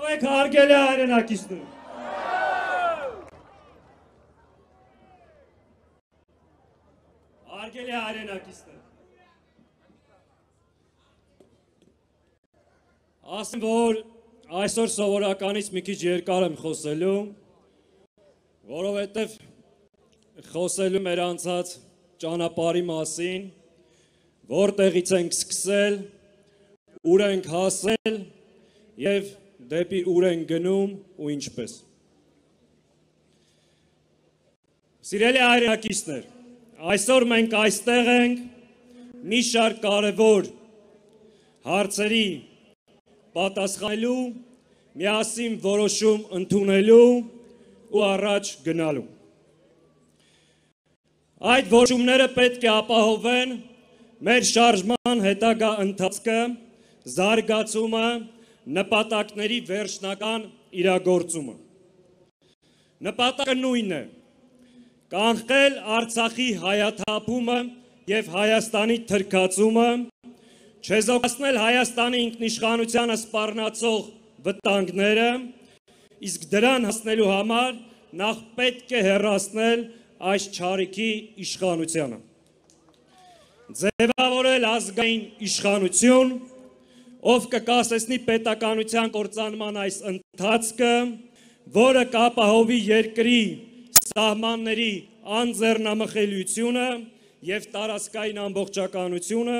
եք հարգելի հայրենակիցներ։ Հարգելի հայրենակիցներ։ Ասեմ, որ այսօր սովորականից մի քիչ երկար եմ խոսելու, որովհետև խոսելու մեր անցած ճանապարհի մասին, որտեղից ենք սկսել, ուր ենք հասել և դեպի ուր ենք գնում ու ինչպես։ Սիրելի հայրենակիցներ, այսօր մենք այստեղ ենք մի շարք կարևոր հարցերի պատասխանելու, միասին որոշում ընդունելու ու առաջ գնալու։ Այդ որոշումները պետք է ապահովեն մեր շարժման հետագա ընթացքը, զարգացումը, նպատակների վերջնական իրագործումը։ Նպատակը նույնն է՝ կանխել Արցախի հայաթափումը և Հայաստանի թրքացումը, չեզոքացնել Հայաստանի ինքնիշխանությանը սպառնացող վտանգները, իսկ դրան հասնելու համար նախ պետք է հեռացնել այս չարիքի իշխանությանը։ Ձևավորել ազգային իշխանություն, ով կկասեցնի պետականության կործանման այս ընթացքը, որը կապահովի երկրի սահմանների անձեռնամխելիությունը և տարածքային ամբողջականությունը,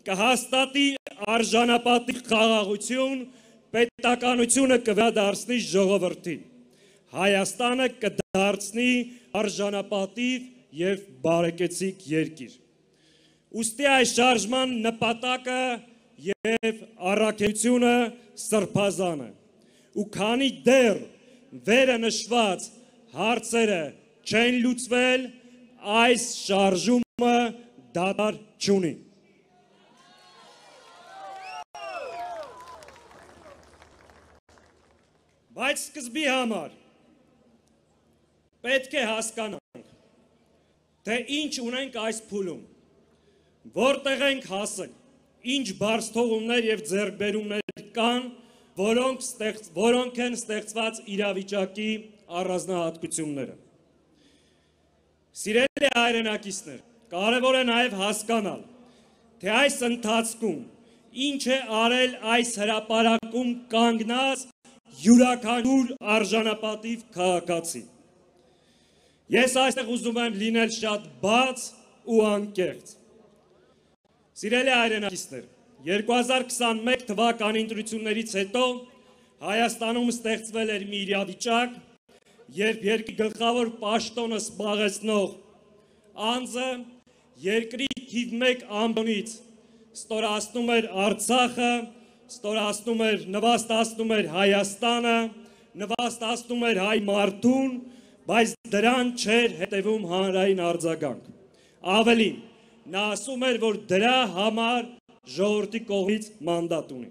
կհաստատի արժանապատիվ խաղաղություն, պետականությունը կվերադարձնի ժողովրդին, Հայաստանը կդարձնի արժանապատիվ և բարեկեցիկ երկիր։ Ուստի այս շարժման նպատակը և առաքելությունը սրբազան է, ու քանի դեռ վերը նշված հարցերը չեն լուծվել, այս շարժումը դադար չունի։ Բայց սկզբի համար պետք է հասկանանք, թե ինչ ունենք այս փուլում, որտեղ ենք հասել, ինչ բարձթողումներ և ձեռքբերումներ կան, որոնք են ստեղծված իրավիճակի առանձնահատկությունները։ Սիրելի հայրենակիցներ, կարևոր է նաև հասկանալ, թե այս ընթացքում ինչ է արել այս հրապարակում կանգնած յուրաքանչյուր արժանապատիվ քաղաքացի։ Ես այստեղ ուզում եմ լինել շատ բաց ու անկեղծ։ Սիրելի հայրենակիցներ, 2021 թվականի ընտրություններից հետո Հայաստանում ստեղծվել էր մի իրավիճակ, երբ երկրի գլխավոր պաշտոնը զբաղեցնող անձը երկրի թիվ 1 ամբոնից ստորացնում էր Արցախը, նվաստացնում էր Հայաստանը, նվաստացնում էր հայ մարդուն, բայց դրան չէր հետևում հանրային արձագանք։ Ավելին, նա ասում էր, որ դրա համար ժողովրդի կողմից մանդատ ունի։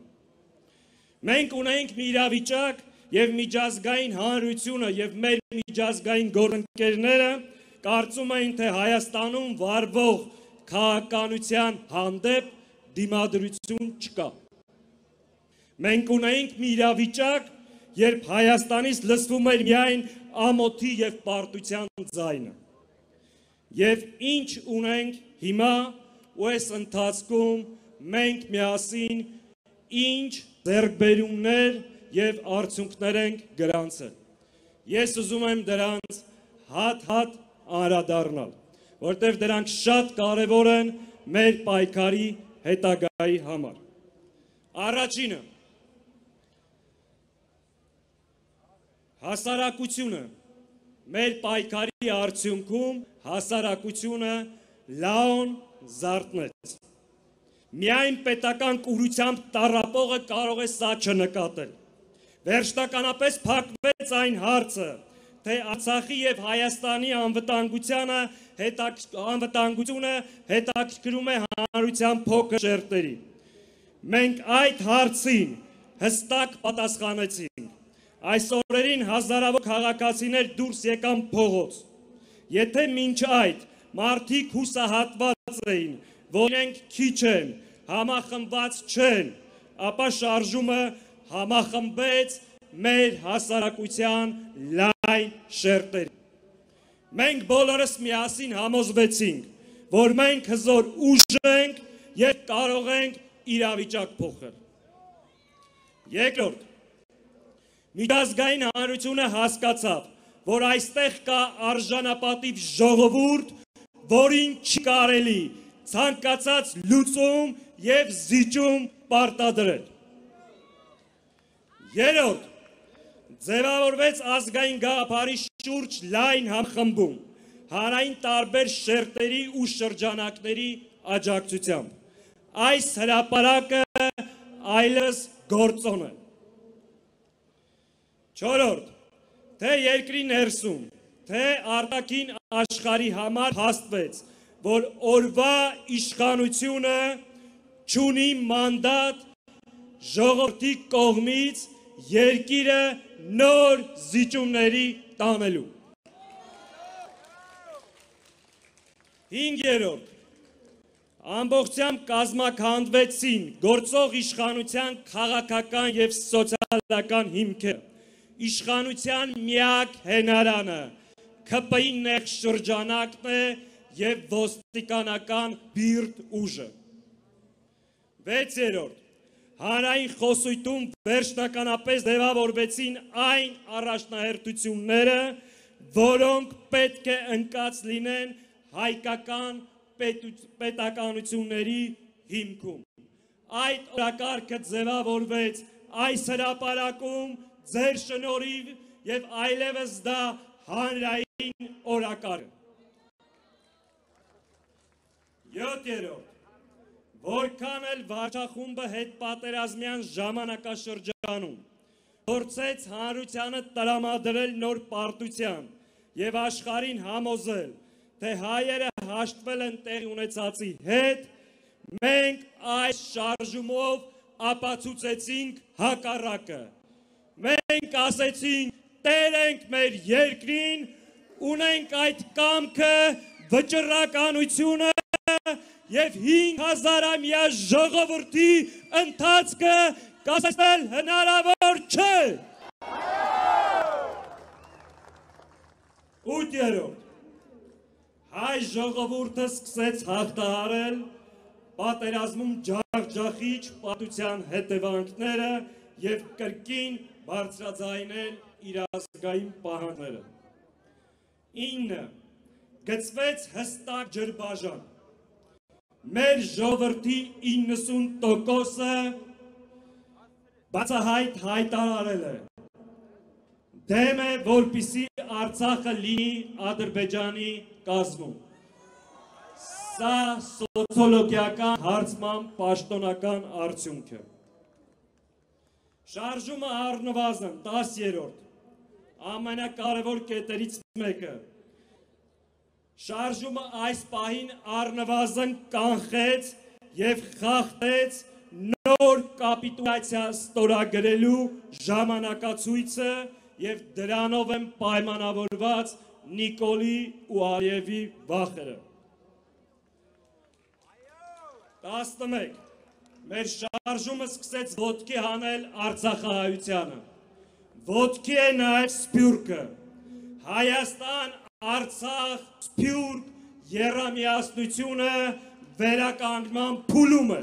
Մենք ունենք մի իրավիճակ և միջազգային հանրությունը և մեր միջազգային գործընկերները կարծում էին, թե Հայաստանում վարվող քաղաքականության հանդեպ դիմադրություն չկա։ Մենք ունենք մի իրավիճակ, երբ Հայաստանից լսվում էր միայն ամոթի և պարտության ձայնը։ Եվ ինչ ունենք հիմա ու այս ընթացքում մենք միասին ինչ ձեռքբերումներ և արդյունքներ ենք գրանցել։ Ես ուզում եմ դրանց հատ-հատ անդրադառնալ, որտեղ դրանք շատ կարևոր են մեր պայքարի հետագայի համար։ Առաջինը, հասարակությունը, մեր պայքարի արդյունքում հասարակությունը լաուն զարթնեց։ Միայն պետական կուրությամբ տառապողը կարող է սա չնկատել։ Վերջնականապես փակվեց այն հարցը, թե Արցախի և Հայաստանի անվտանգությունը հետաքրքրում է հանրության փոքր շերտերի։ Մենք այդ հարցին հստակ պատասխանեցինք։ Այս օրերին հազարավոր քաղաքացիներ դուրս եկան փողոց։ Եթե մինչ այդ մարդիկ հուսահատված էին, որ իրենք քիչ են, համախմբված չեն, ապա շարժումը համախմբեց մեր հասարակության լայն շերտերի։ Մենք բոլորս միասին համոզվեցինք, որ մենք հզոր ուժ ենք և կարող ենք իրավիճակ փոխել։ Երկրորդ, միջազգային հանրությունը հասկացավ, որ այստեղ կա արժանապատիվ ժողովուրդ, որին չի կարելի ցանկացած լուծում և զիջում պարտադրել։ Երրորդ, ձևավորվեց ազգային գաղափարի շուրջ լայն համախմբում, հանրային տարբեր շերտերի ու շրջանակների աջակցությամբ։ Այս հրապարակը այլևս գործոն է։ Չորրորդ, թե երկրի ներսում, թե արտաքին աշխարհի համար հաստվեց, որ օրվա իշխանությունը չունի մանդատ ժողովրդի կողմից երկիրը նոր զիջումների տանելու։ Հինգերորդ, ամբողջությամբ կազմաքանդվեցին գործող իշխանության քաղաքական և սոցիալական հիմքերը, իշխանության միակ հենարանը ՔՊ-ի նեղ շրջանակն է և ոստիկանական բիրտ ուժը։ Վեցերորդ, հանրային խոսույթում վերջնականապես ձևավորվեցին այն առաջնահերթությունները, որոնք պետք է ընկած լինեն հայկական պետականությունների հիմքում։ Այդ օրակարգը ձևավորվեց այս հրապարակում ձեր շնորհիվ և այլևս դա հանրային օրակարգ է։ Յոթերորդ, որքան էլ վարչախումբը հետպատերազմյան ժամանակաշրջանում փորձեց հանրությանը տրամադրել նոր պարտության և աշխարհին համոզել, թե հայերը հաշտվել են տեղի ունեցածի հետ, մենք այս շարժումով ապացուցեցինք հակառակը։ Մենք ասեցինք, տեր ենք մեր երկրին, ունենք այդ կամքը, վճռականությունը և 5000-ամյա ժողովրդի ընթացքը կասեցնել հնարավոր չէ։ Ութերորդ, հայ ժողովուրդը սկսեց հաղթահարել պատերազմում ջախջախիչ պատության հետևանքները և կրկին բարձրաձայնել իր ազգային պահանջները։ 9. Գծվեց հստակ ջրբաժան։ Մեր ժողովրդի 90%-ը բացահայտ հայտարարել է, դեմ է, որպեսզի Արցախը լինի Ադրբեջանի կազմում։ Սա սոցիոլոգիական հարցման պաշտոնական արդյունք է։ Շարժումը առնվազն 10-րդ ամենակարևոր կետերից մեկը։ Շարժումը այս պահին առնվազն կանխեց և խախտեց նոր կապիտուլյացիա ստորագրելու ժամանակացույցը և դրանով են պայմանավորված Նիկոլի ու Ալիևի վախերը։ 11. Մեր շարժումը սկսեց ոտքի հանել արցախահայությանը։ Ոտքի է նաև Սփյուռքը։ Հայաստան, Արցախ, Սփյուռք եռամիասնությունը վերականգնման փուլում է։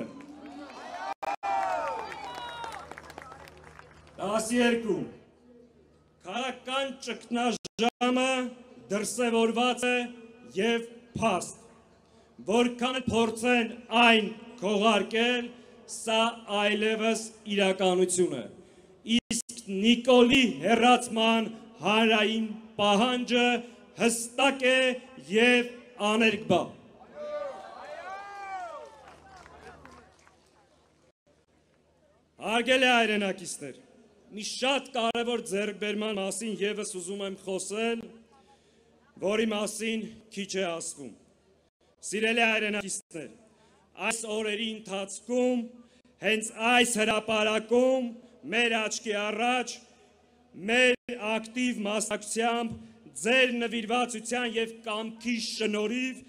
12. Քաղաքական ճգնաժամը դրսևորված է և փաստ։ Որքան փորձեն այն քողարկել, սա այլևս իրականություն է։ Իսկ Նիկոլի հեռացման հանրային պահանջը հստակ է և աներկբա։ Հարգելի հայրենակիցներ, մի շատ կարևոր ձեռքբերման մասին ևս ուզում եմ խոսել, որի մասին քիչ է ասվում։ Սիրելի հայրենակիցներ, այս օրերի ընթացքում, հենց այս հրապարակում, մեր աչքի առաջ, մեր ակտիվ մասնակցությամբ, ձեր նվիրվածության և կամքի շնորհիվ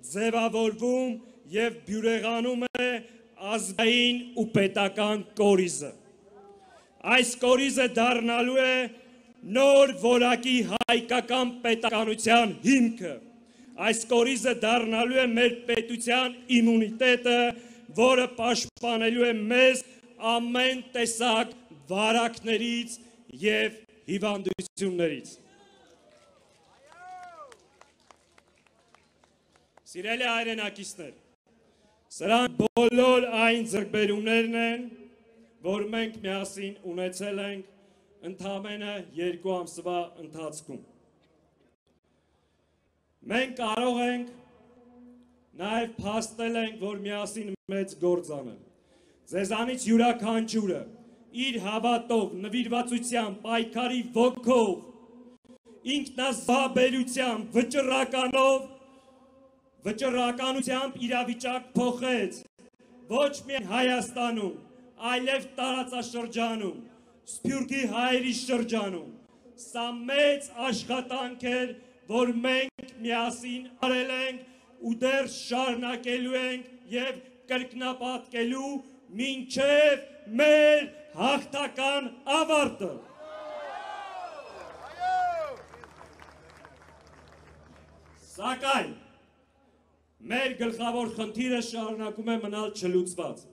ձևավորվում և բյուրեղանում է ազգային ու պետական կորիզը։ այս կորիզը դառնալու է նոր որակի հայկական պետականության հիմքը։ Այս կորիզը դառնալու է մեր պետության իմունիտետը, որը պաշտպանելու է մեզ ամեն տեսակ վարակներից և հիվանդություններից։ Սիրելի հայրենակիցներ, սրանք բոլոր այն ձեռքբերումներն են, որ մենք միասին ունեցել ենք ընդամենը 2 ամսվա ընթացքում։ Մենք կարող ենք նաև փաստել ենք, որ միասին մեծ գործ անել։ Ձեզանից յուրաքանչյուրը իր հավատով, նվիրվածությամբ, պայքարի ոգով, ինքնազոհաբերությամբ, վճռականությամբ իրավիճակ փոխեց ոչ միայն Հայաստանում, այլև տարածաշրջանում, Սփյուռքի հայերի շրջանում։ Սա մեծ աշխատանք էր, որ մենք միասին արել ենք ու դեռ շարունակելու ենք և կրկնապատկելու մինչև մեր հաղթական ավարտը։ Սակայն մեր գլխավոր խնդիրը շարունակում է մնալ չլուծված։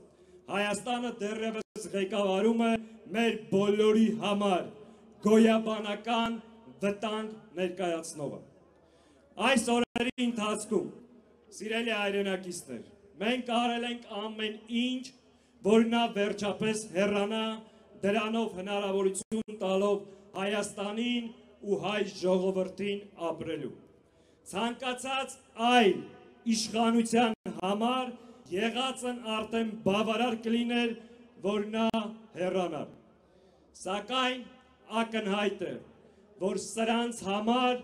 Հայաստանը դեռևս ղեկավարում է մեր բոլորի համար գոյաբանական վտանգ ներկայացնողը։ Այս օրերի ընթացքում, սիրելի հայրենակիցներ, մենք արել ենք ամեն ինչ, որ նա վերջապես հեռանա, դրանով հնարավորություն տալով Հայաստանին ու հայ ժողովրդին ապրելու։ Ցանկացած այլ իշխանության համար եղածն արդեն բավարար կլիներ, որ նա հեռանար։ Սակայն ակնհայտ է, որ սրանց համար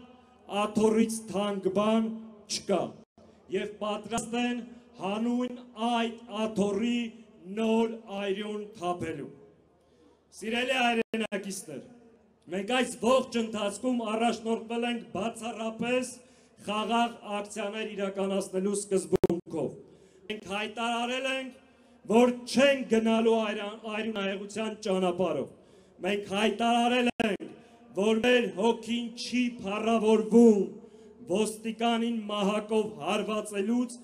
աթոռից թանկ բան չկա և պատրաստ են հանուն այդ աթոռի նոր այրուն թափելու։ Սիրելի հայրենակիցներ, մենք այս ողջ ընթացքում առաջնորդվել ենք բացառապես խաղաղ ակցիաներ իրականացնելու սկզբունքով։ Մենք հայտարարել ենք, որ չենք գնալու այրունահեղության ճանապարհով։ Մենք հայտարարել ենք, որ մեր հոգին չի փառավորվում ոստիկանին մահակով հարվածելուց,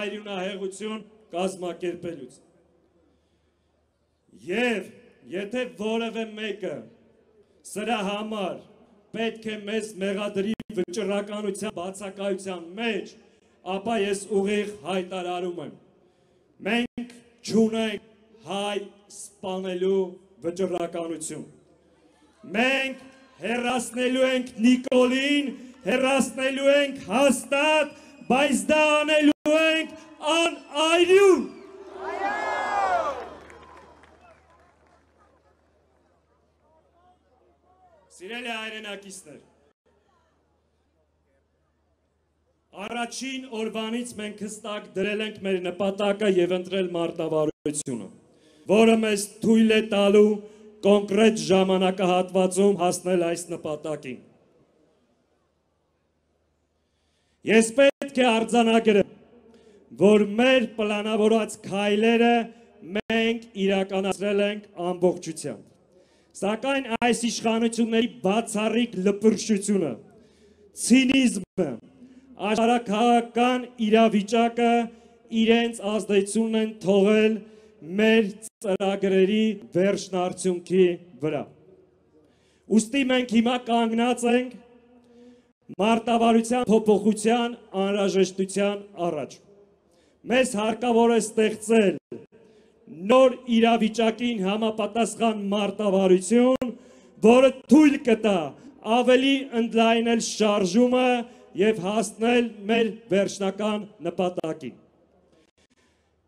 այրունահեղություն կազմակերպելուց։ Եվ եթե որևէ մեկը սրա համար պետք է մեզ մեղադրի վճռականության բացակայության մեջ, ապա ես ուղիղ հայտարարում եմ. մենք չունենք հայ սպանելու վճռականություն։ Մենք հեռացնելու ենք Նիկոլին, հեռացնելու ենք հաստատ, բայց դա անելու ենք անայրուն։ Սիրելի հայրենակիցներ, առաջին օրվանից մենք հստակ դրել ենք մեր նպատակը և ընտրել մարտավարությունը, որը մեզ թույլ է տալու կոնկրետ ժամանակահատվածում հասնել այս նպատակին։ Ես պետք է արձանագրեմ, որ մեր պլանավորած քայլերը մենք իրականացրել ենք ամբողջությամբ։ Սակայն այս իշխանությունների բացառիկ լպրշությունը, ցինիզմը, աշխարհաքաղաքական իրավիճակը իրենց ազդեցությունն են թողել մեր ծրագրերի վերջնարդյունքի վրա։ Ուստի մենք հիմա կանգնած ենք մարտավարության փոփոխության անհրաժեշտության առաջ։ Մեզ հարկավոր է ստեղծել նոր իրավիճակին համապատասխան մարտավարություն, որը թույլ կտա ավելի ընդլայնել շարժումը և հասնել մեր վերջնական նպատակին։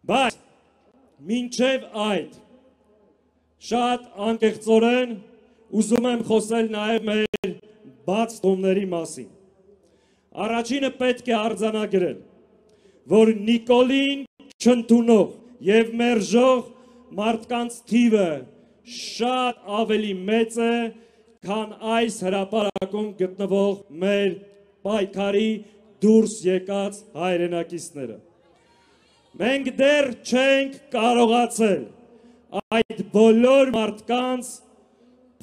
Բայց մինչև այդ շատ անկեղծորեն ուզում եմ խոսել նաև մեր բաց տոմների մասին։ Առաջինը պետք է արձանագրել, որ Նիկոլին չընդունող և մերժող մարդկանց թիվը շատ ավելի մեծ է, քան այս հրապարակում գտնվող մեր պայքարի դուրս եկած հայրենակիցները։ Մենք դեռ չենք կարողացել այդ բոլոր մարդկանց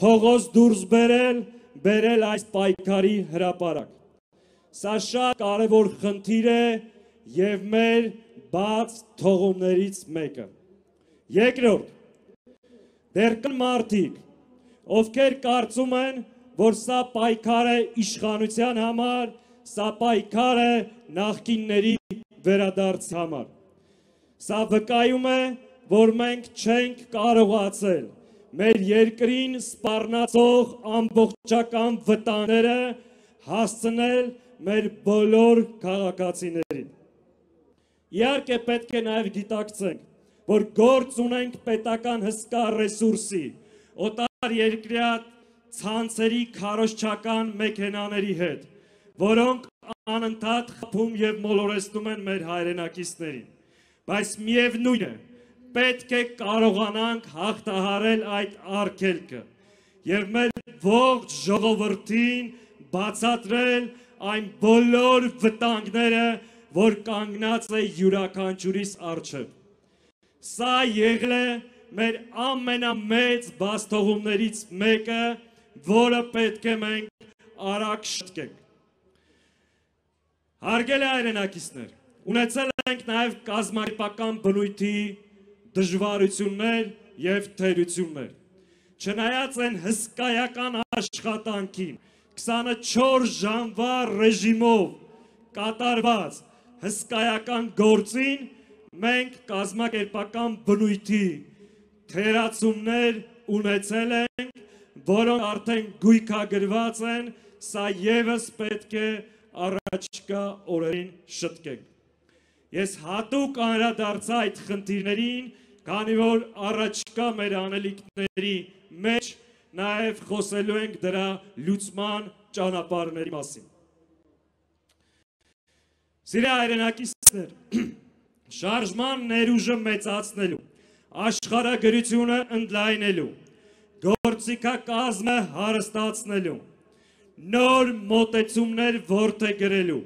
փողոց դուրս բերել այս պայքարի հրապարակ։ Սա շատ կարևոր խնդիր է եւ մեր բաց թողումներից մեկը։ Երկրորդ, դեռ կան մարդիկ, ովքեր կարծում են, որ սա պայքար է իշխանության համար, սա պայքար է նախկինների վերադարձի համար։ Սա վկայում է, որ մենք չենք կարողացել մեր երկրին սպառնացող ամբողջական վտանգները հասցնել մեր բոլոր քաղաքացիներին։ Իհարկե պետք է նաև գիտակցենք, որ գործ ունենք պետական հսկա ռեսուրսի, օտար երկրյա ցանցերի քարոզչական մեքենաների հետ, որոնք անընդհատ խփում եւ մոլորեցնում են մեր հայրենակիցներին, բայց միևնույն է, պետք է կարողանանք հաղթահարել այդ արգելքը եւ մեր ողջ ժողովրդին բացատրել այն բոլոր վտանգները, որ կանգնած է յուրաքանչյուրիս առջև։ Սա եղել է մեր ամենամեծ բացթողումներից մեկը, որը պետք է մենք արագ շտկենք։ Հարգելի հայրենակիցներ, ունեցել ենք նաև կազմակերպական բնույթի դժվարություններ եւ թերություններ։ Չնայած այն հսկայական աշխատանքին 24 ժամվա ռեժիմով կատարված հսկայական գործին, մենք կազմակերպական բնույթի թերացումներ ունեցել ենք, որոնք արդեն գույքագրված են, սա եւս պետք է առաջկա օրերին շտկենք։ Ես հատուկ անդրադարձա այդ խնդիրներին, քանի որ առաջկա մեր անելիքների մեջ նաև խոսելու ենք դրա լուծման ճանապարհների մասին։ Սիրելի հայրենակիցներ, շարժման ներուժը մեծացնելու, աշխարհագրությունը ընդլայնելու, գործիքակազմը հարստացնելու, նոր մոտեցումներ որդեգրելու,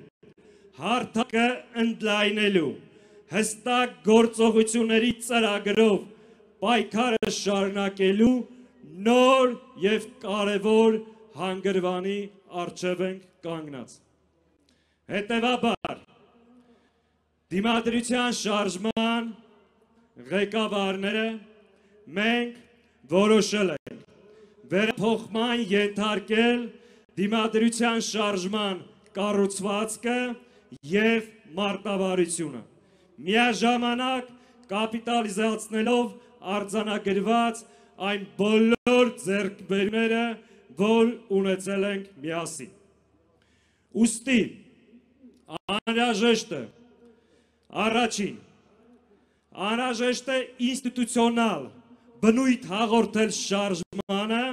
հարթակը ընդլայնելու, հստակ գործողությունների ծրագրով պայքարը շարունակելու նոր եւ կարևոր հանգրվանի առջև ենք կանգնած։ Հետևաբար, դիմադրության շարժման ղեկավարները մենք որոշել ենք վերափոխման ենթարկել դիմադրության շարժման կառուցվածքը եւ մարտավարությունը, միաժամանակ կապիտալիզացնելով արձանագրված այն բոլոր ձեռքբերումները, որ ունեցել ենք միասին։ Ուստի անհրաժեշտ է առաջին, անհրաժեշտ է ինստիտուցիոնալ բնույթ հաղորդել շարժմանը,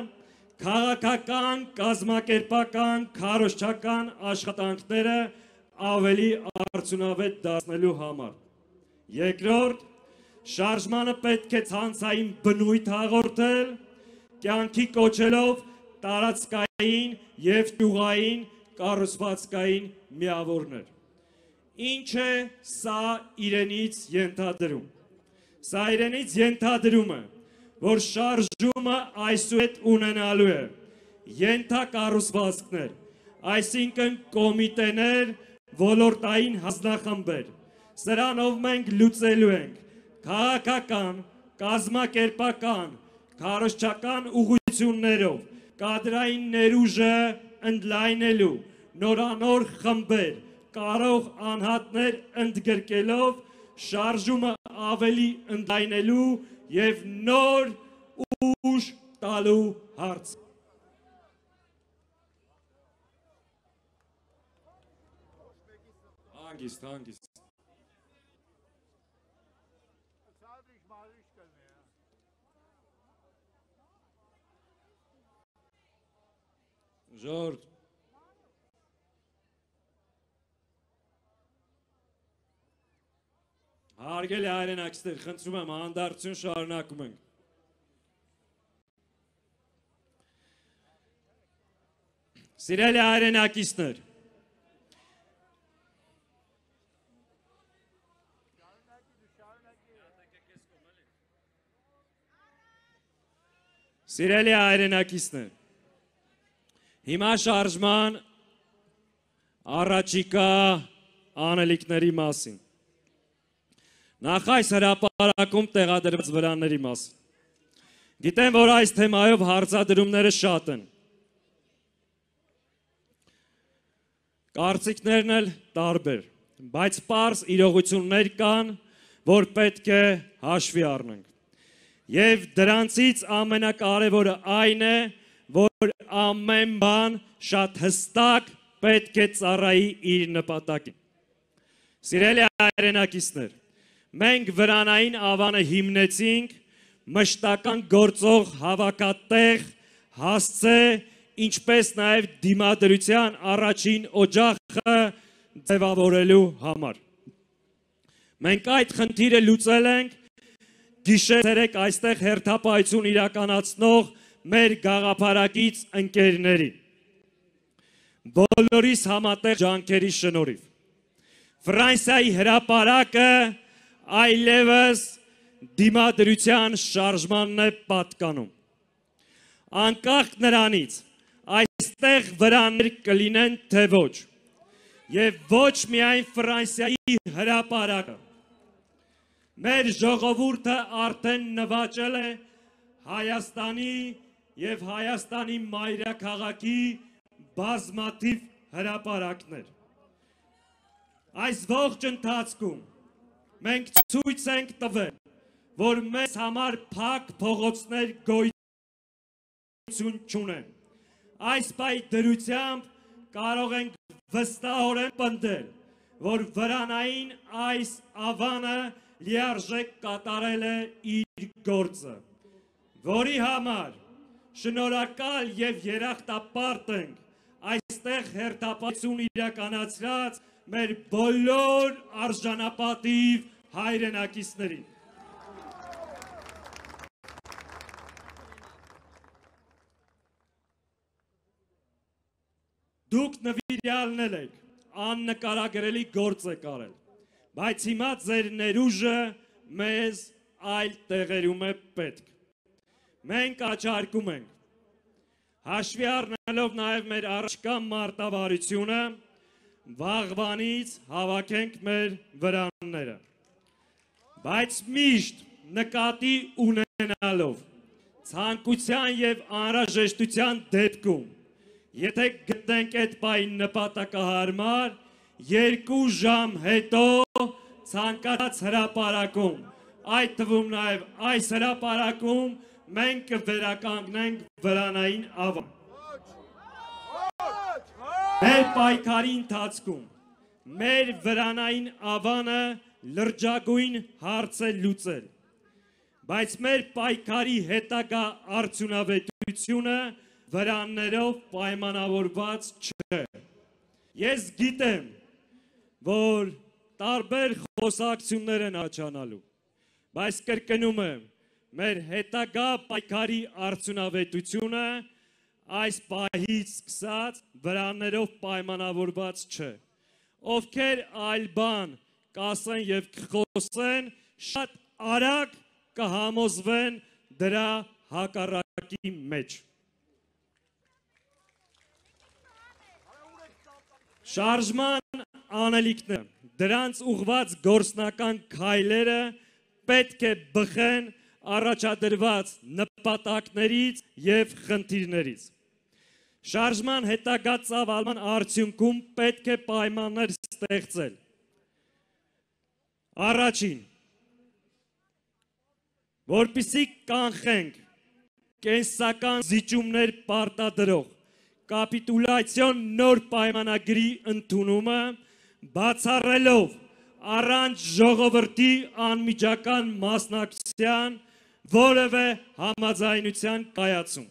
քաղաքական, կազմակերպական, քարոզչական աշխատանքները ավելի արդյունավետ դարձնելու համար։ Երկրորդ, շարժմանը պետք է ցանցային բնույթ հաղորդել, կյանքի կոչելով տարածքային եւ ճյուղային կառուցվածքային միավորներ։ Ինչ է սա իրենից ենթադրում։ Սա իրենից ենթադրում է, որ շարժումը այսուհետ ունենալու է ենթակառուցվածքներ, այսինքն կոմիտեներ, ոլորտային հանձնախմբեր, սրանով մենք լուծելու ենք քաղաքական, կազմակերպական, քարոզչական ուղղություններով կադրային ներուժը ընդլայնելու, նորանոր խմբեր, կարող անհատներ ընդգրկելով շարժումը ավելի ընդլայնելու եւ նոր ուժ տալու հարց։ Հանգիստ։ Ժորժ։ Հարգելի հայրենակիցներ, խնդրում եմ հանդարտություն շարունակում ենք։ Սիրելի հայրենակիցներ, Սիրելի հայրենակիցներ, հիմա շարժման առաջիկա անելիքների մասին, նախ այս հրապարակում տեղադրված վրանների մասին, գիտեմ, որ այս թեմայով հարցադրումները շատ են, կարծիքներն էլ տարբեր, բայց պարզ իրողություններ կան, որ պետք է հաշվի առնենք։ Եվ դրանցից ամենակարևորը այն է, որ ամեն բան շատ հստակ պետք է ծառայի իր նպատակին։ Սիրելի հայրենակիցներ, մենք վրանային ավանը հիմնեցինք մշտական գործող հավաքատեղ հասցե, ինչպես նաև դիմադրության առաջին օջախը ձևավորելու համար։ Մենք այդ խնդիրը լուծել ենք գիշեր-ցերեկ այստեղ հերթապահություն իրականացնող մեր գաղափարակից ընկերների, բոլորիս համատեղ ջանքերի շնորհիվ։ Ֆրանսիայի հրապարակը այլևս դիմադրության շարժմանն է պատկանում։ Անկախ նրանից այստեղ վրաններ կլինեն թե ոչ, եւ ոչ միայն Ֆրանսիայի հրապարակը։ Մեր ժողովուրդը արդեն նվաճել է Հայաստանի եւ Հայաստանի մայրաքաղաքի բազմաթիվ հրապարակներ։ Այս ողջ ընթացքում մենք ցույց ենք տվել, որ մեզ համար փակ փողոցներ գոյություն չունեն։ Այս պայդրությամբ կարող ենք վստահորեն պնդել, որ վրանային այս ավանը լիարժեք կատարել է իր գործը, որի համար շնորհակալ եւ երախտապարտ ենք այստեղ հերթապահություն իրականացրած մեր բոլոր արժանապատիվ հայրենակիցներին։ Դուք նվիրյալներ եք, աննկարագրելի գործ եք արել, բայց հիմա ձեր ներուժը մեզ այլ տեղերում է պետք։ Մենք առաջարկում ենք, հաշվի առնելով նաև մեր առաջկա մարտավարությունը, վաղվանից հավաքենք մեր վրանները, բայց միշտ նկատի ունենալով ցանկության եւ անհրաժեշտության դեպքում, եթե գտնենք այդ պահին նպատակահարմար, 2 ժամ հետո ցանկացած հրապարակում, այդ թվում նաև այս հրապարակում մենք կվերականգնենք վրանային ավան։ Մեր պայքարի ընթացքում մեր վրանային ավանը լրջագույն հարց է լուծել, բայց մեր պայքարի հետագա արդյունավետությունը վրաններով պայմանավորված չէ։ Ես գիտեմ, որ տարբեր խոսակցություններ են աչանալու, բայց կրկնում եմ, մեր հետագա պայքարի արդյունավետությունը այս պահից սկսած վրաններով պայմանավորված չէ։ Ովքեր այլ բան կասեն եւ կխոսեն, շատ արագ կհամոզվեն դրա հակառակի մեջ։ Շարժման անելիքները, դրանց ուղղված գործնական քայլերը պետք է բխեն առաջադրված նպատակներից եւ խնդիրներից։ Շարժման հետագա ծավալման արդյունքում պետք է պայմաններ ստեղծել։ Առաջին, որպեսզի կանխենք կենսական զիջումներ պարտադրող կապիտուլյացիոն նոր պայմանագրի ընդունումը, բացառելով առանց ժողովրդի անմիջական մասնակցության որևէ համաձայնության կայացում։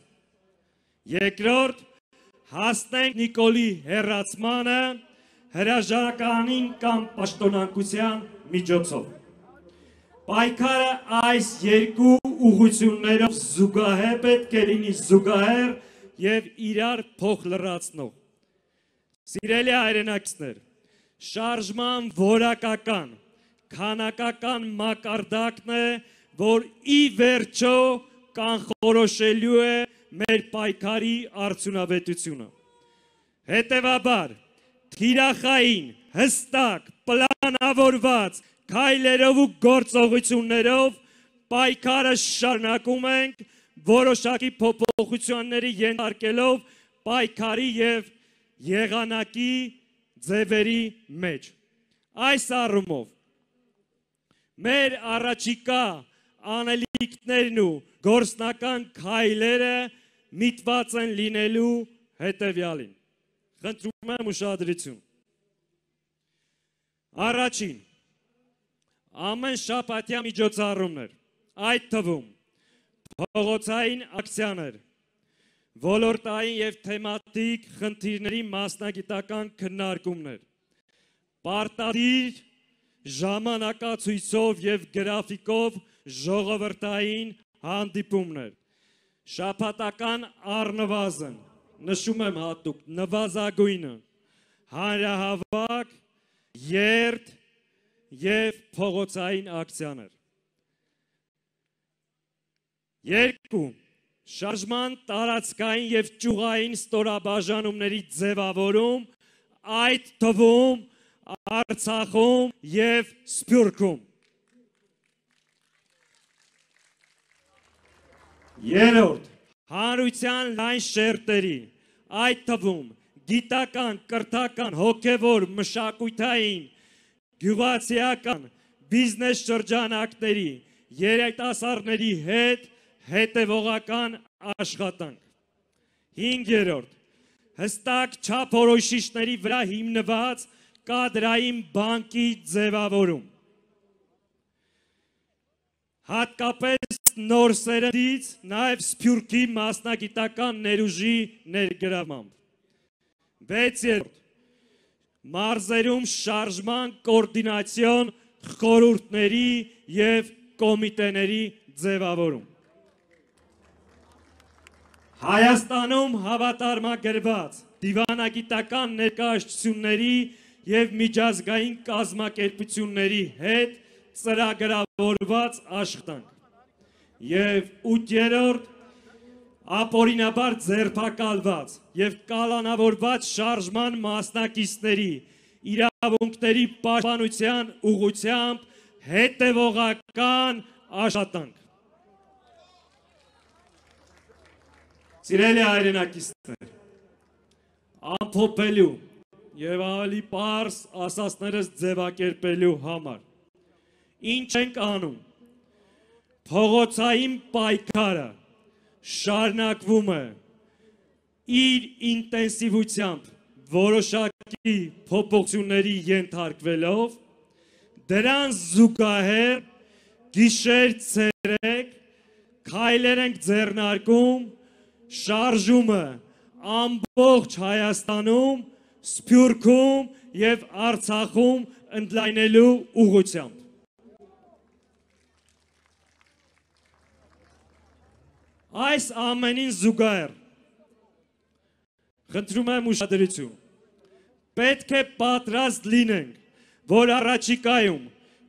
Երկրորդ, հասնենք Նիկոլի հեռացմանը հրաժարականին կամ պաշտոնանկության միջոցով։ Պայքարը այս երկու ուղղություններով զուգահեռ պետք է լինի զուգահեռ եւ իրար փոխլրացնող։ Սիրելի հայրենակիցներ, շարժման որակական, քանակական մակարդակն է, որ ի վերջո կանխորոշելու է մեր պայքարի արդյունավետությունը։ Հետևաբար, թիրախային, հստակ, պլանավորված քայլերով ու գործողություններով պայքարը շարունակում ենք, որոշակի փոփոխությունների ենթարկելով պայքարի եւ եղանակի ձևերի մեջ։ Այս առումով մեր առաջիկա անելիքներն ու գործնական քայլերը միտված են լինելու հետևյալին։ Խնդրում եմ ուշադրություն։ Առաջին, ամեն շաբաթյա միջոցառումներ, այդ թվում փողոցային ակցիաներ, ոլորտային եւ թեմատիկ խնդիրների մասնագիտական քննարկումներ, պարտադիր ժամանակացույցով եւ գրաֆիկով ժողովրդային հանդիպումներ, շաբաթական առնվազն, նշում եմ հատուկ, նվազագույնը, հանրահավաք, երթ եւ փողոցային ակցիաներ։ Երկու, շարժման տարածքային եւ ճյուղային ստորաբաժանումների ձևավորում, այդ թվում Արցախում եւ Սփյուռքում։ Երրորդ, հանրության լայն շերտերի, այդ թվում գիտական, կրթական, հոգևոր, մշակութային, գյուղացիական, բիզնես շրջանակների, երիտասարդների հետ հետևողական աշխատանք։ Հինգերորդ, հստակ չափորոշիչների վրա հիմնված կադրային բանկի ձևավորում։ Հատկապես նոր սերնդից նաև Սփյուռքի մասնագիտական ներուժի ներգրավմամբ։ Վեցերորդ, մարզերում շարժման կոորդինացիոն խորհուրդների և կոմիտեների ձևավորում։ Հայաստանում հավատարմագրված դիվանագիտական ներկայացությունների և միջազգային կազմակերպությունների հետ ծրագրավորված աշխատանք։ Եվ ութերորդ, ապօրինաբար ձերբակալված և կալանավորված շարժման մասնակիցների իրավունքների պաշտպանության ուղղությամբ հետևողական աշխատանք։ Սիրելի հայրենակիցներ, ամփոփելու և ավելի պարզ ասածներս ձևակերպելու համար, ինչ ենք անում։ Փողոցային պայքարը շարունակվում է իր ինտենսիվությամբ որոշակի փոփոխությունների ենթարկվելով, դրան զուգահեռ գիշեր ցերեկ քայլեր ենք ձեռնարկում շարժումը ամբողջ Հայաստանում, Սփյուռքում և Արցախում ընդլայնելու ուղղությամբ։ Այս ամենին զուգահեռ, խնդրում եմ ուշադրություն, պետք է պատրաստ լինենք, որ առաջիկայում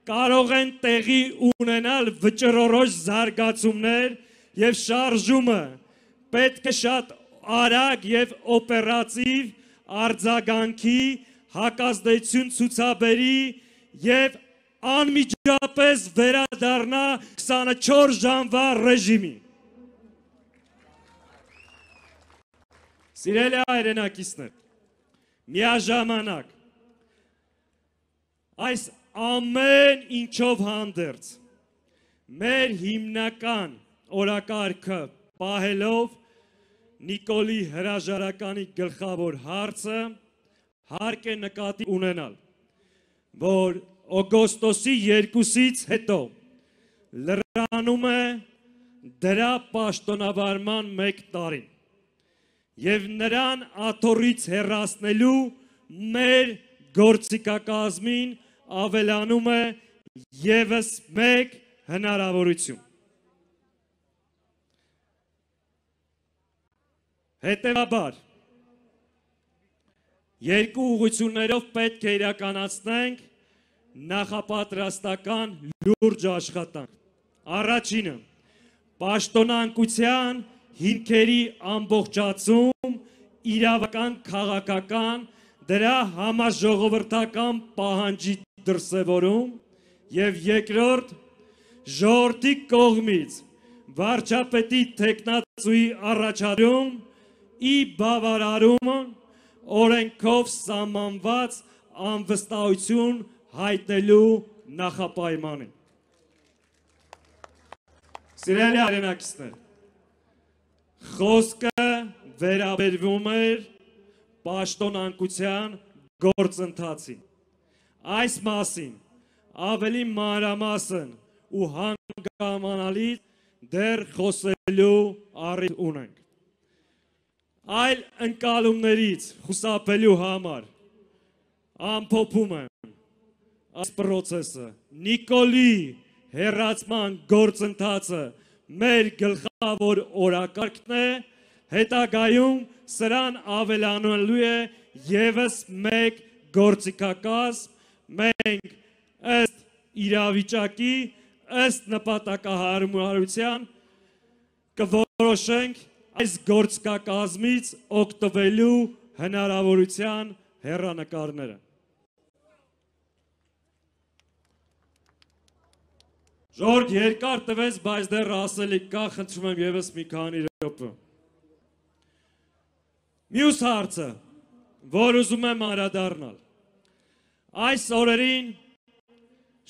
կարող են տեղի ունենալ վճռորոշ զարգացումներ և շարժումը պետք է շատ արագ և օպերատիվ արձագանքի, հակազդեցություն ցուցաբերի և անմիջապես վերադառնա 24 ժամվա ռեժիմի։ Սիրելի հայրենակիցներ, միաժամանակ այս ամեն ինչով հանդերձ մեր հիմնական օրակարգը պահելով Նիկոլի հրաժարականի գլխավոր հարցը հարկ է նկատի ունենալ, որ օգոստոսի 2-ից հետո լրանում է դրա պաշտոնավարման 1 տարին և նրան աթոռից հեռացնելու մեր գործիքակազմին ավելանում է ևս 1 հնարավորություն։ Հետևաբար, երկու ուղղություններով պետք է իրականացնենք նախապատրաստական լուրջ աշխատանք։ Առաջինը, պաշտոնանկության հիմքերի ամբողջացում, իրավական, քաղաքական, դրա համաժողովրդական պահանջի դրսևորում եւ երկրորդ ժողովրդի կողմից վարչապետի թեկնածուի առաջադրում ի բավարարումը օրենքով սահմանված անվստահություն հայտնելու նախապայմանին։ Սիրելի հայրենակիցներ, խոսքը վերաբերվում էր պաշտոնանկության գործընթացին։ Այս մասին ավելի մանրամասն ու հանգամանալից դեռ խոսելու առիթ ունենք։ Այլ ընկալումներից խուսափելու համար ամփոփում եմ այս պրոցեսը։ Նիկոլի հեռացման գործընթացը մեր գլխավոր օրակարգն է, հետագայում սրան ավելանալու է ևս մեկ գործիքակազմ, մենք ըստ իրավիճակի, ըստ նպատակահարմարության կորոշենք այս գործիքակազմից օգտվելու հնարավորության հեռանկարները։ Ժողովուրդ երկար տվեց, բայց դեռ ասելիք կա, խնդրում եմ ևս մի քանի րոպե։ Մյուս հարցը, որ ուզում եմ անդրադառնալ, այս օրերին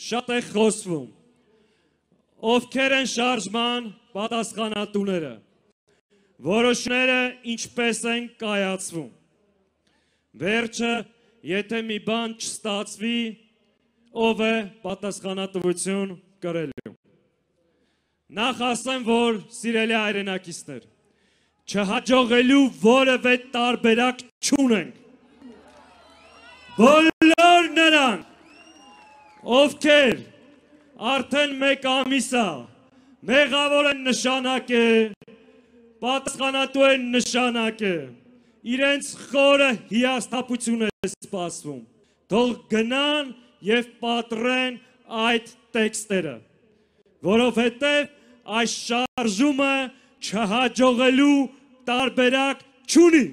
շատ է խոսվում, ովքեր են շարժման պատասխանատուները, որոշները ինչպես են կայացվում։ Վերջը, եթե մի բան չստացվի, ով է պատասխանատվություն կրելու։ Նախ ասեմ, որ սիրելի հայրենակիցներ, չհաջողելու որևէ տարբերակ չունենք։ Բոլոր նրանք, ովքեր արդեն մեկ ամիսա մեղավոր են նշանակե, պատասխանատու են նշանակե, իրենց խորը հիասթափություն է սպասվում, թող գնան և պատռեն այդ տեքստերը, որովհետև այս շարժումը չհաջողելու տարբերակ չունի։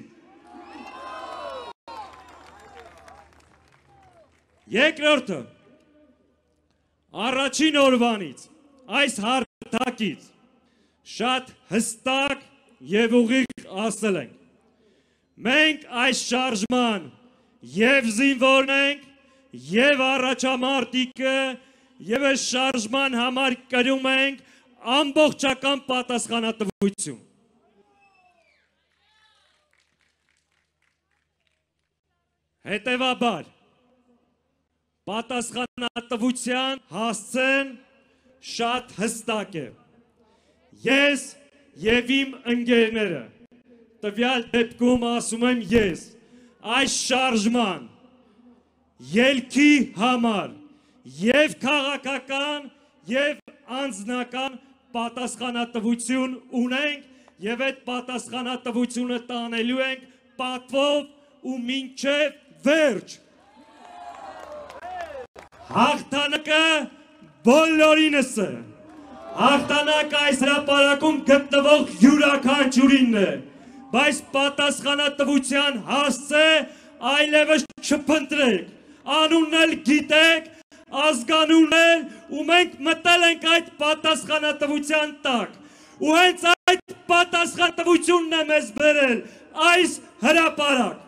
Երկրորդը, առաջին օրվանից, այս հարթակից շատ հստակ և ուղիղ ասել ենք, մենք այս շարժման և զինվորն ենք, և առաջամարտիկը, և այս շարժման համար կրում ենք ամբողջական պատասխանատվություն։ Հետևաբար, պատասխանատվության հասցեն շատ հստակ է։ Ես և իմ ընկերները, տվյալ դեպքում ասում եմ ես, այս շարժման ելքի համար և քաղաքական և անձնական պատասխանատվություն ունենք և այդ պատասխանատվությունը տանելու ենք պատվով ու մինչև վերջ։ Հաղթանակը բոլորինս է։ Հաղթանակը այս հրապարակում գտնվող յուրաքանչյուրինն է, բայց պատասխանատվության հասցե այլևս չփնտրեք, անունն էլ գիտեք, ազգանունն էլ, ու մենք մտել ենք այդ պատասխանատվության տակ, ու հենց այդ պատասխանատվությունն է մեզ բերել այս հրապարակ։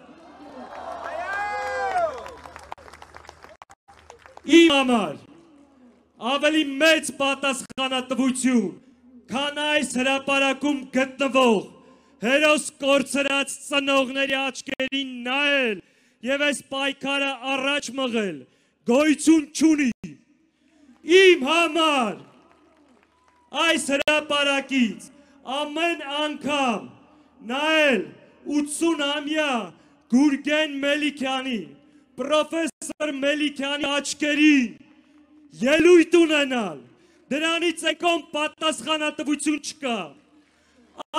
Իմ համար ավելի մեծ պատասխանատվություն, քան այս հրապարակում գտնվող հերոս կորցրած ծնողների աչքերին նայել և այս պայքարը առաջ մղել, գոյություն չունի։ Իմ համար այս հրապարակից ամեն անգամ նայել 80-ամյա Գուրգեն Մելիքյանի, պրոֆեսոր Մելիքյանի աչքերին, ելույթ ունենալ, դրանից եկոմ պատասխանատվություն չկա։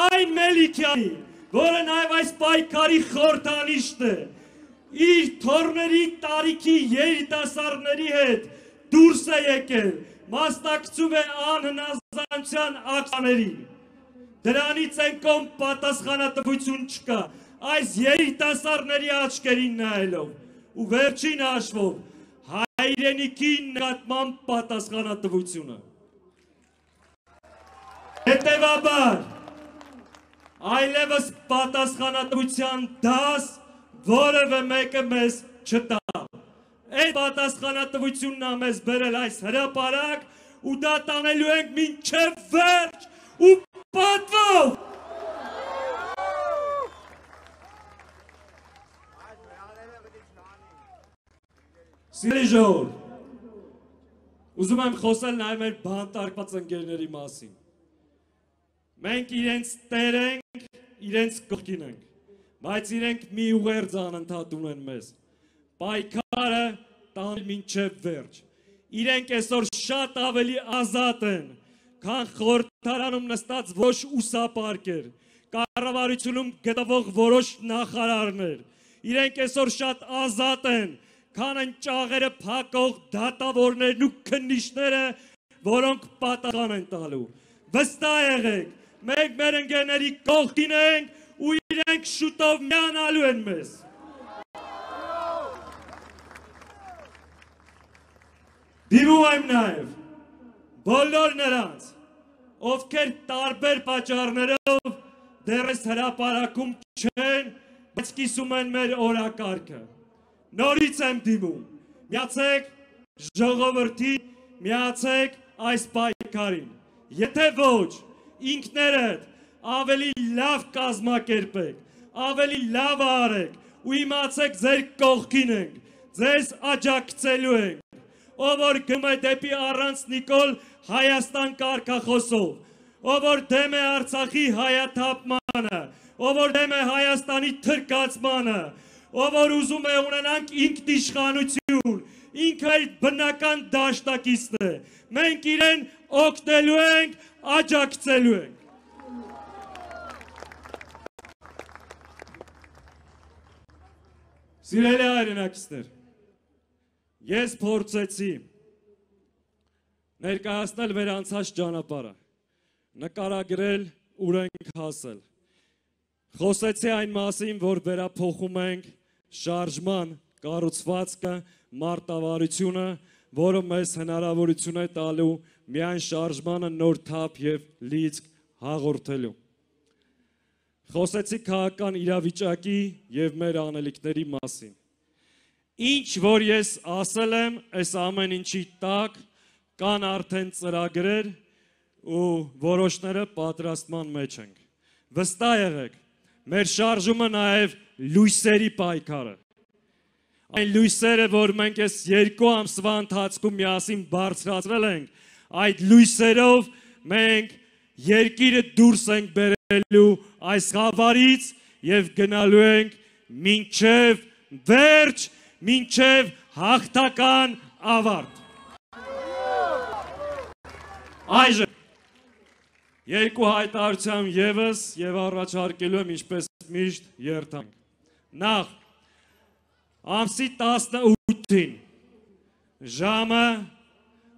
Այն Մելիքյանի, որը նաև այս պայքարի խորհրդանիշն է, իր թոռների տարիքի երիտասարդների հետ դուրս է եկել, մասնակցում է անհնազանդության ակցիաներին։ Դրանից են կողմ պատասխանատվություն չկա, այս երիտասարդների աչքերին նայելով ու վերջին հաշվով հայրենիքի նկատմամբ պատասխանատվությունը։ Հետևաբար, այլևս պատասխանատվության դաս որևէ մեկը մեզ չտա։ Այդ պատասխանատվությունն է մեզ բերել այս հրապարակ ու դա տանելու ենք մինչև վերջ ու պատվով։ Սիրելի ժողովուրդ, ուզում եմ խոսել նաև մեր բանտարկված ընկերների մասին։ Մենք իրենց տեր ենք, իրենց կողքին ենք, բայց իրենք մի ուղերձ անընդհատ ունեն մեզ։ Պայքարը տանել մինչև վերջ։ Իրենք այսօր շատ ավելի ազատ են, քան խորհրդարանում նստած որոշ ուսապարկեր, կառավարությունում գտնվող որոշ նախարարներ։ Իրենք այսօր շատ ազատ են, քան են ճաղերը փակող դատավորներն ու քննիչները, որոնք պատասխան են տալու։ Վստահ եղեք, մենք մեր ընկերների կողքին ենք ու իրենք շուտով միանալու են մեզ։ Դիմում եմ նաև բոլոր նրանց, ովքեր տարբեր պատճառներով դեռ այս հրապարակում չեն, բայց կիսում են մեր օրակարգը։ Նորից եմ դիմում, միացեք ժողովրդի, միացեք այս պայքարին։ Եթե ոչ, ինքներդ ավելի լավ կազմակերպեք, ավելի լավ արեք ու իմացեք ձեր կողքին ենք, ձեզ աջակցելու ենք, ով որ գնում է դեպի առանց Նիկոլ Հայաստան կարգախոսով, ով որ դեմ է Արցախի հայաթափմանը, ով որ դեմ է Հայաստանի թրկացմանը, ով որ ուզում է ունենանք ինքնիշխանություն, ինքը իր բնական դաշնակիցն է, մենք իրեն օգնելու ենք, աջակցելու ենք։ Սիրելի հայրենակիցներ, ես փորձեցի ներկայացնել մեր անցած ճանապարհը, նկարագրել ուր ենք հասել։ Խոսեցի այն մասին, որ վերափոխում ենք շարժման կառուցվածքը, մարտավարությունը, որը մեզ հնարավորություն է տալու միայն շարժմանը նոր թափ եւ լիցք հաղորդելու։ Խոսեցի քաղաքական իրավիճակի եւ մեր անելիքների մասին։ Ինչ որ ես ասել եմ, այս ամեն ինչի տակ կան արդեն ծրագրեր ու որոշները պատրաստման մեջ ենք։ Վստահ եղեք, մեր շարժումը նաև լույսերի պայքարը։ Այն լույսերը, որ մենք այս 2 ամսվա ընթացքում միասին բարձրացրել ենք, այդ լույսերով մենք երկիրը դուրս ենք բերելու այս խավարից եւ գնալու ենք մինչև վերջ, մինչև հաղթական ավարտ։ Այժմ երկու հայտարարություն եւս եւ առաջարկելու եմ ինչպես միշտ երթանք։ Նախ ամսի 18-ին ժամը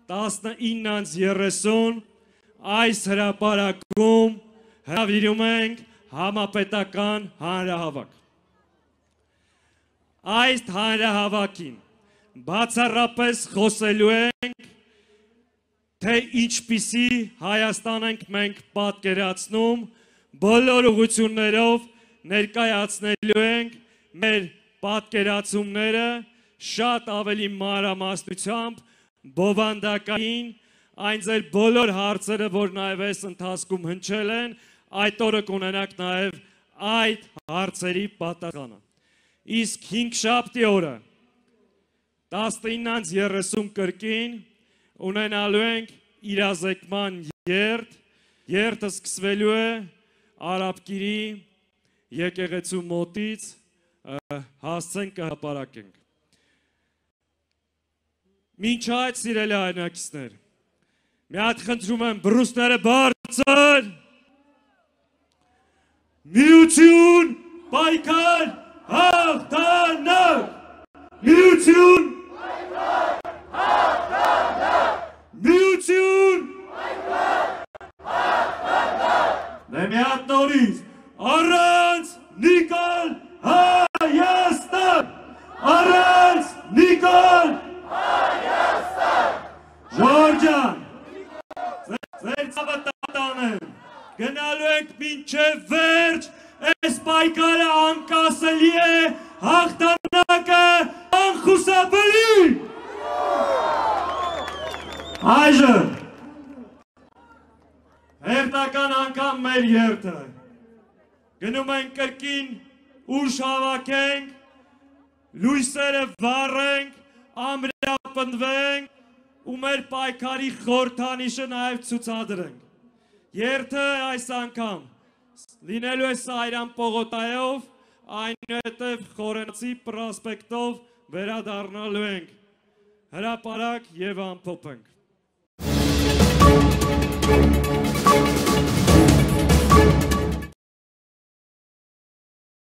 19:30 այս հրապարակում հրավիրում ենք համապետական հանրահավաք։ Այս հանրահավաքին բացառապես խոսելու ենք, թե ինչպիսի Հայաստան ենք մենք պատկերացնում, բոլոր ուղղություններով ներկայացնելու ենք մեր պատկերացումները շատ ավելի մանրամասնությամբ, բովանդակային, այն ձեր բոլոր հարցերը, որ նաև այս ընթացքում հնչել են, այդ օրը կունենաք նաև այդ հարցերի պատասխանը։ Իսկ 5-շաբթի օրը 19:30 կրկին ունենալու ենք իրազեկման երթ, երթը սկսվելու է Արաբկիրի եկեղեցու մոտից, հասցենք կհրապարակենք։ Մինչ այդ սիրելի հայրենակիցներ, մի հատ խնդրում եմ բռունցքները բարձր, միություն, պայքար, հաղթանակ, միություն, պայքար, հաղթանակ։ մի հատ նորից, առանց Նիկոլ Հայաստան, առանց Նիկոլ Հայաստան, Ժորջան, ձեր ծավը տատանեմ, գնալու ենք մինչև վերջ, այս պայքարը անկասելի է, հաղթանակը անխուսափելի։ Այժմ հերթական անգամ մեր երթը գնում ենք կրկին ուժ հավաքենք, լույսերը վառենք, ամրապնդվենք ու մեր պայքարի խորհրդանիշը նաև ցուցադրենք։ Երթը այս անգամ լինելու է Սարյան պողոտայով, այնուհետև Խորենացի պրոսպեկտով վերադառնալու ենք հրապարակ և ամփոփենք։